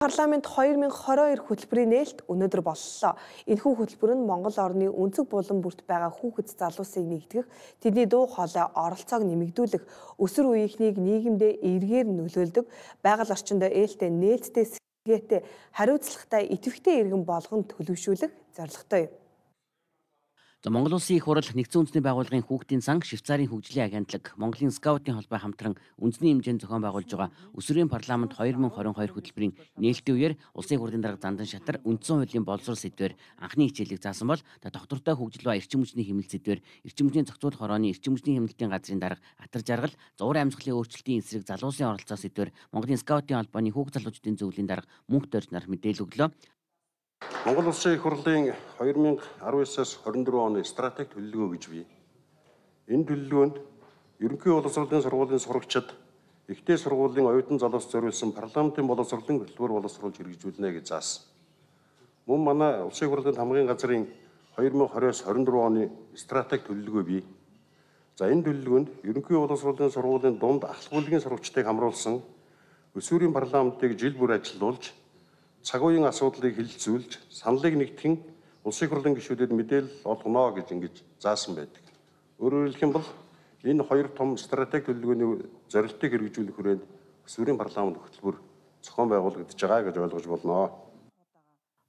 парламент 2022 хөтөлбөрийн нээлт өнөөдөр боллоо. Энэхүү хөтөлбөр нь Монгол орны өнцөг булан бүрт байгаа хүүхэд залуусыг нэгтгэх, тэдний дуу хоолой оролцоог нэмэгдүүлэх, өсвөр үеийнхнийг нийгэмдээ эргээр нөлөөлдөг, байгаль орчиндөө ээлтэй нээлттэй сэргээтэй хариуцлагатай идэвхтэй иргэн болгон төлөвшүүлэх зорилготой юм. Монгол Улсын их хурал нэгдсэн үндэсний байгууллагын хүүхдийн сан, Швейцарын хөгжлийн агентлаг, Монголын скаутын холбоо хамтран үндэсний хэмжээнд зохион байгуулж байгаа өсвөрийн парламент 2022 хөтөлбөрийн нээлтийн үеэр улсын хурлын дарга Зандан Шатар үндсэн хуулийн боловсрол сэдвээр анхны хичээлийг заасан бол доктортой хөгжил ба эрчим хүчний хэмнэлт сэдвээр эрчим хүчний зохицуулах хорооны эрчим хүчний хэмнэлтийн газрын дарга Атар Жаргал, зовөр амьсгалын өөрчлөлтийн эсрэг залуусын оролцоо сэдвээр Монголын скаутын холбооны хүүхд залуучдын зөвлөлийн дарга Мөнх Дорж нар мэдээлэл өглөө. Монгол Улсын их хурлын 2019-аас 24 оны стратеги төлөвлөгөө гэж бий. Энэ төлөвлөгөөнд ерөнхий боловсролын сургуулийн сурагчид ихтэй сургуулийн оюутан залуус зориулсан парламентын боловсролын хөтөлбөр боловсруулж хэрэгжүүлнэ гэж заасан. Мөн манай Улсын их хурлын хамгийн газрын 2020-24 оны стратеги төлөвлөгөө бий. За энэ төлөвлөгөөнд ерөнхий боловсролын сургуулийн дунд ахлах бүлгийн сурагчдыг хамруулсан өсвөрийн парламентыг жил бүр ажилуулж цаг үеийн асуудлыг хэлэлцүүлж, саналыг нэгтгэн улсын хурлын гишүүдэд мэдээлэл олгоно гэж ингэж заасан байдаг. Өөрөөр хэлэх юм бол энэ хоёр том стратеги төлөвлөгөөний зорилтыг хэрэгжүүлэх хүрээнд өсвөрийн парламент хөтөлбөр зохион байгуулагдаж байгаа гэж ойлгож болно.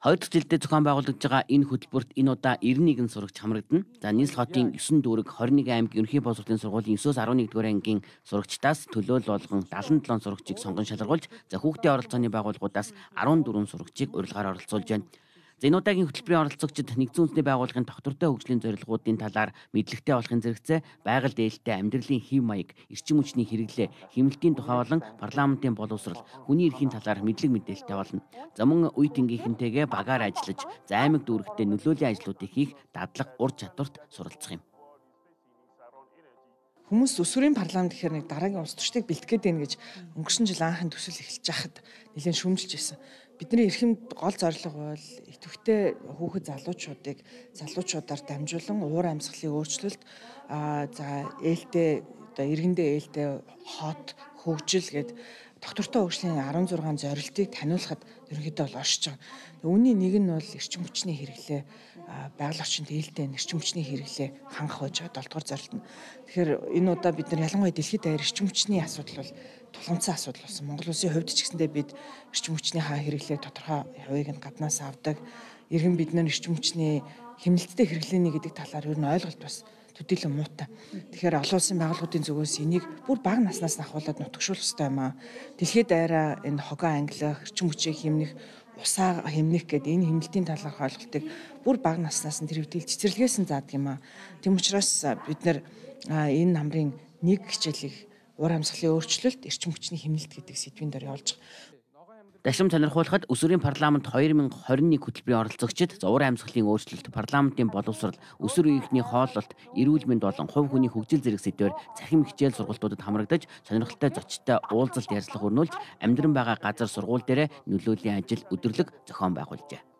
Хоёр дахь жилдээ зохион байгуулагдж байгаа энэ хөтөлбөрт энэ удаа 91 сурагч хамрагдана. За нийслэл хотын 9 дүүрэг 21 аймаг ерөнхий боловсролын сургуулийн 9-өөс 11-р ангийн сурагчдаас төлөөлөл болгон 77 сурагчийг сонгон шалгаруулж, за хүүхдийн оролцооны байгууллагуудаас 14 сурагчийг урилгаар оролцуулж байна. За энэ удаагийн хөтөлбөрийн оролцогчид нэгдсэн үндэсний байгууллагын доктортой хөгжлийн зорилгоудын талаар мэдлэгтэй болохын зэрэгцээ, байгаль дээлтэй амьдралын хэв маяг, эрчим хүчний хэрэглээ, хэмнэлтийн тухай болон парламентын боловсрол, хүний эрхийн талаар мэдлэг мэдээлэлтэй болно. За мөн үе тэнгийнхэнтэйгээ багаар ажиллаж, за аймаг дүүрэгтээ нөлөөлийн ажлуудыг хийх дадлаг ур чадварт суралцах юм. Хүмүүс өсвөрийн парламент гэхээр нэг дараагийн улс төрчдийг бэлтгэхэд байна гэж өнгөрсөн жил анхны төсөл эхэлж байхад нэлээд шүүмжилж байсан. Бидний эрхэм гол зорилго бол идэвхтэй хүүхэд залуучуудаар дамжуулан уур амьсгалын өөрчлөлт, за ээлтэй одоо иргэндээ ээлтэй хот хөгжил гээд доктортой хөгжлийн 16 зорилтыг таниулахад ерөнхийдөө бол оршиж байгаа. Үүний нэг нь бол эрчим хүчний хэрэглээ, байгаль орчинд ээлтэй эрчим хүчний хэрэглээ хангах байж байгаа 7 дугаар зорилт нь. Тэгэхээр энэ удаа бид нар ялангуяа дэлхийд даяар эрчим хүчний асуудал бол тулгамдсан асуудал болсон. Монгол улсын хувьд ч гэсэндээ бид эрчим хүчний хэрэглээ тодорхой хувийг нь гаднаас авдаг. Иргэн бид нар эрчим хүчний хэмнэлттэй хэрэглээний гэдэг талаар ер нь ойлголт бас төдийлөн муутай. Тэгэхээр олон улсын байгууллагуудын зүгээс энийг бүр бага наснаас нь ахуулаад нутагшуулах хэрэгтэй юм аа. Дэлхийд даяараа энэ хогоо ангилах, эрчим хүчийг хэмнэх, усаа хэмнэх гэдэг энэ хэмнэлтийн талаарх ойлголтыг бүр бага наснаас нь тэр хэвдэл цэцэрлэгээс нь заадаг юм аа. Тийм учраас бид нар энэ намрын нэг хичээлийг уур амьсгалын өөрчлөлт, эрчим хүчний хэмнэлт гэдэг сэдвийн дээр явуулж байгаа. Дашим сонирхуулахад өсвөрийн парламент 2021 хөтөлбөрийн оролцогчид уур амьсгалын өөрчлөлт, парламентын боловсрол, өсвөр үеийнхний хооллолт, эрүүл мэнд болон хувь хүний хөгжил зэрэг сэдвээр цахим хичээл сургалтуудад хамрагдаж, сонирхолтой зочдтой уулзалт ярилцлага өрнүүлж, амьдран байгаа газар сургууль дээрээ нөлөөлийн ажил өдөрлөг зохион байгуулжээ.